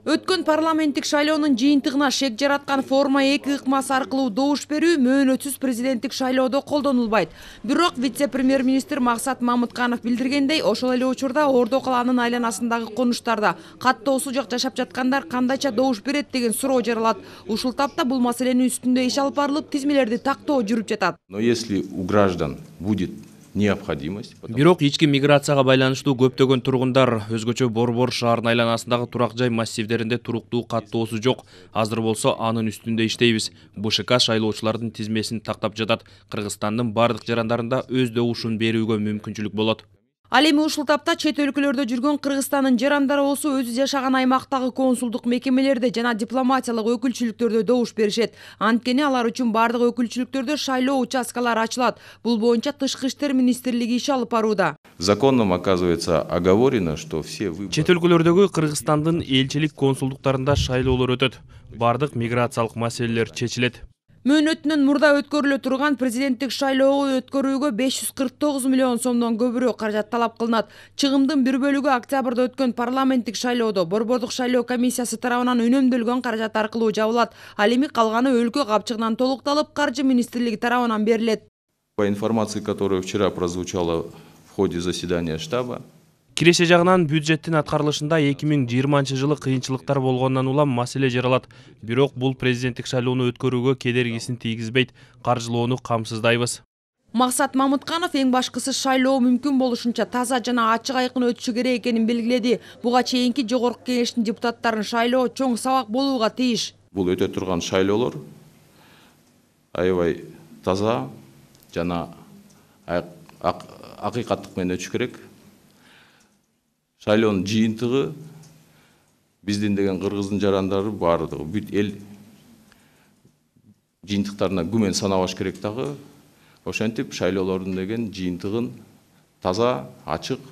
Өткөн парламенттик шайлоонун жыйынтыгына шек жараткан форма 2 ыкмасы аркылуу добуш берүү мөөнөтсүз президенттик шайлоодо колдонулбайт. Бирок вице-премьер-министр Максат Мамытканов билдиргендей, ошол эле учурда Ордо калаанын айланасындагы конуштарда каттоосу жок жашап жаткандар кандайча добуш берет деген суроо жаралат. Ушул тапта бул маселенин үстүндө иш алып барылып, тизмелерди тактоо жүрүп жатат. Но если у граждан будет необходимость. Бирок ички миграцияга байланыштуу көптөгөн тургундар өзгөчө Борбор шаарынын айланасындагы турак жай массивдеринде туруктуу каттоосу жок. Азыр болсо анын үстүндө иштейбиз. БШК шайлоочулардын тизмесин тактап жатат. Кыргызстандын бардык жарандарында өз добушун берүүгө мүмкүнчүлүк болот. Ал эми ушул тапта чет өлкөлөрдө жүргөн Кыргызстандын жарандары болсо өзү жашаган аймактагы консулдук мекемелерде жана дипломатиялык өкүлчүлүктөрдө добуш беришет. Анткени алар үчүн бардык өкүлчүлүктөрдө шайлоо участкалары ачылат. Бул боюнча Тышкы иштер министрлиги иш алып барууда. Законом оказывается оговорено, что все выборы. Чет өлкөлөрдөгү Кыргызстандын элчилик консулдуктарында шайлоолор өтөт. Бардык миграциялык маселелер чечилет. Мөөнөтүнөн мурда өткөрүлө турган президенттик шайлоого өткөрүүгө 549 миллион сомдон көбүрөөк каражат талап кылынат. Чыгымдын бир бөлүгү октябрда өткөн парламенттик шайлоодо Борбордук шайлоо комиссиясы тарабынан үнөмдөлгөн каражат аркылуу жабылат. Ал эми калганы өлкө капчыгынан толукталып, Каржы министрлиги тарабынан берилет. По информации, которая вчера прозвучала в ходе заседания штаба, Киреше жагынан бюджеттин аткарылышында 2020 жылы кыйынчылыктар болгондон улам маселе жаралат. Бирок бул президенттик шайлоону өткөрүүгө кедергисин тийгизбейт. Каржылоону камсыздайбыз. Максат Мамытканов эң башкысы шайлоо мүмкүн болушунча таза жана ачык айкын өтүшү керек экенин белгиледи. Буга чейинки жогорку кеңештин депутаттарын шайлоо чоң сабак болууга тийиш. Бул өтө турган шайлоолор аябай таза жана акыйкаттык менен өтүш керек. Шайлоонун жыйынтыгы биздин деген кыргыздын жарандары баардыгы бүт эл жыйынтыктарына күмөн санабаш керек дагы. Ошентип шайлоолордун деген жыйынтыгын таза, ачык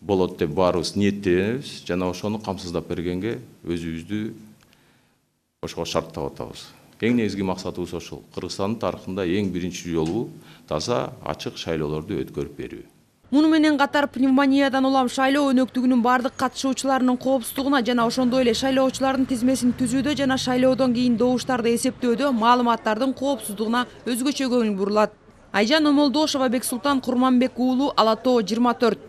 болот деп баарыбыз ниеттенебиз жана ошону камсыздап бергенге өзүбүздү ошого шарттап атабыз. Эң негизги максатыбыз ошол. Кыргызстандын тарыхында эң биринчи жолу таза, ачык шайлоолорду өткөрүп берүү. Муну менен катар пневмониядан улам шайлоо өнөктүгүнүн бардык катышуучуларынын коопсуздугуна жана ошондой эле шайлоочулардын тизмесин түзүүдө жана шайлоодон кийин добуштарды эсептөөдө маалыматтардын коопсуздугуна өзгөчө көңүл бурулат. Айжан Омолдошова, Бексултан Курманбек уулу, Ала Тоо 24.